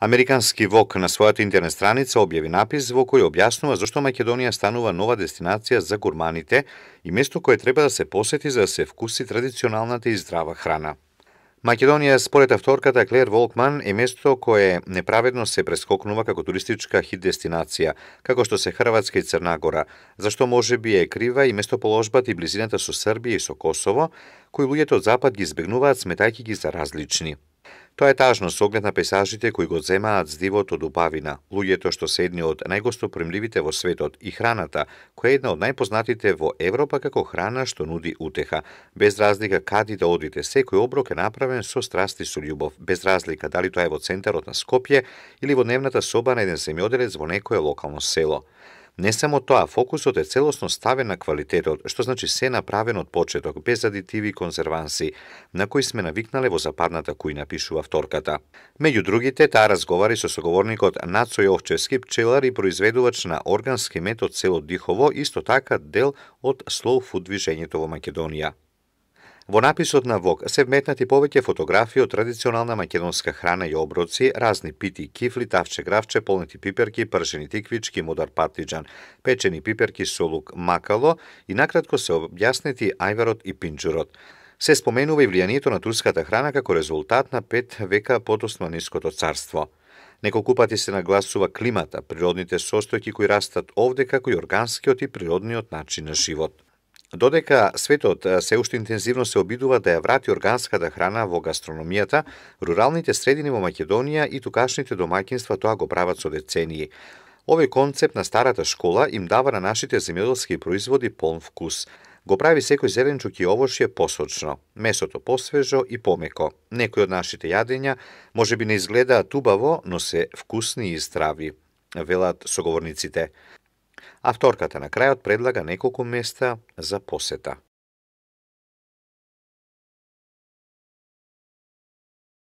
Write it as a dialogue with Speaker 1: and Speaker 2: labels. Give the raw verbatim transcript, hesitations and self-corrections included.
Speaker 1: Американски ВОК на својата интернет страница објави напис во кој објаснува зашто Македонија станува нова дестинација за гурманите и место кое треба да се посети за да се вкуси традиционалната и здрава храна. Македонија, според авторката Клер Волкман, е место кое неправедно се прескокнува како туристичка хит дестинација, како што се Хрватска и Црна Гора, зашто може би е крива и местоположбата и близината со Србија и со Косово, кои луѓето од запад ги избегнуваат сметајќи ги за различни. Тоа е тажно со оглед на пейзажите кои го земаат здивот од убавина, луѓето што се едни од најгостопримливите во светот и храната, која е една од најпознатите во Европа како храна што нуди утеха, без разлика каде да одите, секој оброк е направен со страст и со љубов, без разлика дали тоа е во центарот на Скопје или во дневната соба на еден земјоделец во некое локално село. Не само тоа, фокусот е целосно ставен на квалитетот, што значи се направено од почеток, без адитиви и конзерванси, на кои сме навикнале во западната кујна, пишува авторката. Меѓу другите, таа разговари со соговорникот Нацо Јовчевски, пчелар и произведувач на органски мед од село Дихово, исто така дел од Slow Food движењето во Македонија. Во написот на ВОК се вметнати повеќе фотографии од традиционална македонска храна и оброци, разни пити, кифли, тавче гравче, полнети пиперки, пршени тиквички, модар партиџан, печени пиперки со лук, макало и накратко се објаснети ајварот и пинџурот. Се споменува и влијанието на турската храна како резултат на пет века под Османиското царство. Неколку пати се нагласува климата, природните состојки кои растат овде, како и органскиот и природниот начин на живот. Додека светот се уште интензивно се обидува да ја врати органската храна во гастрономијата, руралните средини во Македонија и тукашните домаќинства тоа го прават со децении. Овој концепт на старата школа им дава на нашите земјоделски производи полн вкус. Го прави секој зеленчук и овошје посочно, месото посвежо и помеко. Некои од нашите јадења може би не изгледаат убаво, но се вкусни и здрави, велат соговорниците. Авторката на крајот предлага неколку места за посета.